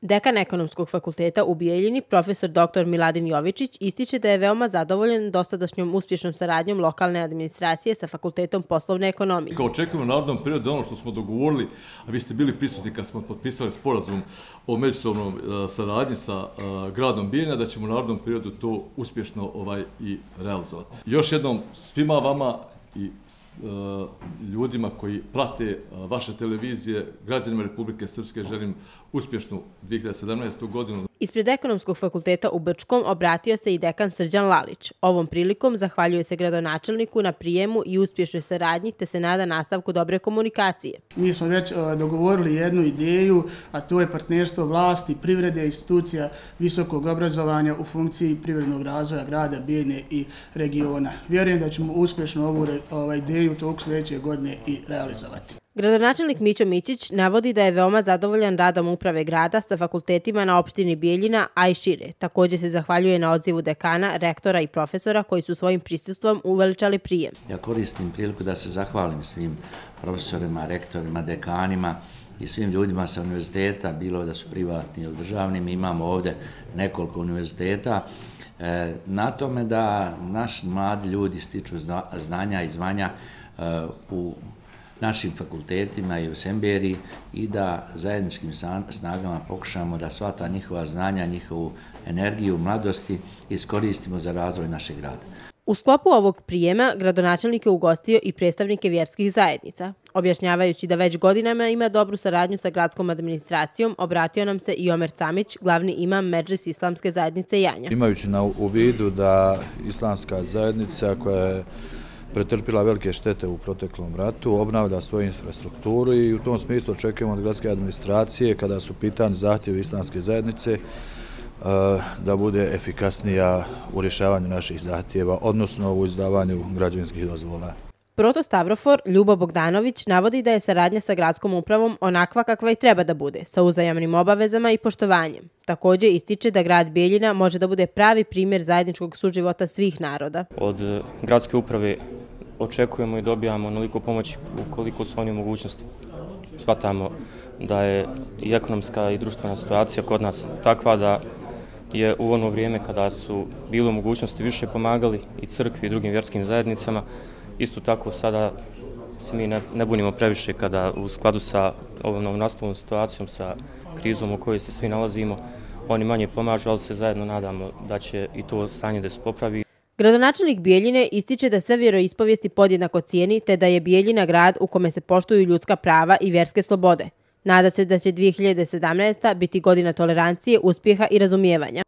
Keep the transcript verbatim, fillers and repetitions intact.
Dekan Ekonomskog fakulteta u Bijeljini, profesor doktor Miladin Jovičić, ističe da je veoma zadovoljan dosadašnjom uspješnom saradnjom lokalne administracije sa Fakultetom poslovne ekonomije. Kao očekujemo u narednom periodu ono što smo dogovorili, a vi ste bili prisutni kad smo potpisali sporazum o međusobnom saradnji sa gradom Bijeljina, da ćemo u narednom periodu to uspješno ovaj i realizovati. Još jednom svima vama i ljudima koji prate vaše televizije, građanima Republike Srpske želim uspješnu dvije hiljade sedamnaestu. godinu. Ispred Ekonomskog fakulteta u Brčkom obratio se i dekan Srđan Lalić. Ovom prilikom zahvaljuje se gradonačelniku na prijemu i uspješnoj saradnji te se nada nastavku dobre komunikacije. Mi smo već dogovorili jednu ideju, a to je partnerstvo vlasti, privrede, institucija visokog obrazovanja u funkciji privrednog razvoja grada Bijeljine i regiona. Vjerujem da ćemo uspješno ovu ideju u toku sljedeće godine i realizovati. Gradonačelnik Mićo Mićić navodi da je veoma zadovoljan radom uprave grada sa fakultetima na opštini Bijeljina, a i šire. Također se zahvaljuje na odzivu dekana, rektora i profesora koji su svojim prisustvom uveličali prijem. Ja koristim priliku da se zahvalim svim profesorima, rektorima, dekanima i svim ljudima sa univerziteta, bilo da su privatni ili državni. Mi imamo ovdje nekoliko univerziteta. Na tome da naši mladi ljudi stiču znanja i zvanja u našim fakultetima i u Semberiji i da zajedničkim snagama pokušamo da sva ta njihova znanja, njihovu energiju, mladosti iskoristimo za razvoj našeg grada. U sklopu ovog prijema gradonačelnik je ugostio i predstavnike vjerskih zajednica. Objašnjavajući da već godinama ima dobru saradnju sa gradskom administracijom, obratio nam se i Omer Camić, glavni imam Medžlis Islamske zajednice Janja. Imajući na u vidu da Islamska zajednica koja je pretrpila velike štete u proteklom ratu, obnavlja svoju infrastrukturu i u tom smislu očekujemo od gradske administracije, kada su pitani zahtjevi Islamske zajednice, da bude efikasnija u rješavanju naših zahtjeva, odnosno u izdavanju građevinskih dozvola. Protostavrofor Ljubo Bogdanović navodi da je saradnja sa gradskom upravom onakva kakva i treba da bude, sa uzajamnim obavezama i poštovanjem. Također ističe da grad Bijeljina može da bude pravi primjer zajedničkog suživota svih naroda. Od gradske uprave očekujemo i dobijamo onoliko pomoći ukoliko su oni u mogućnosti. Shvatamo da je i ekonomska i društvena situacija kod nas takva da je u ono vrijeme kada su bili u mogućnosti više pomagali i crkvi i drugim vjerskim zajednicama. Isto tako sada se mi ne, ne bunimo previše kada u skladu sa ovom novonastalom situacijom, sa krizom u kojoj se svi nalazimo, oni manje pomažu, ali se zajedno nadamo da će i to stanje da se popravi. Gradonačelnik Bijeljine ističe da sve vjeroispovijesti podjednako cijeni te da je Bijeljina grad u kome se poštuju ljudska prava i vjerske slobode. Nada se da će dvije hiljade sedamnaesta. biti godina tolerancije, uspjeha i razumijevanja.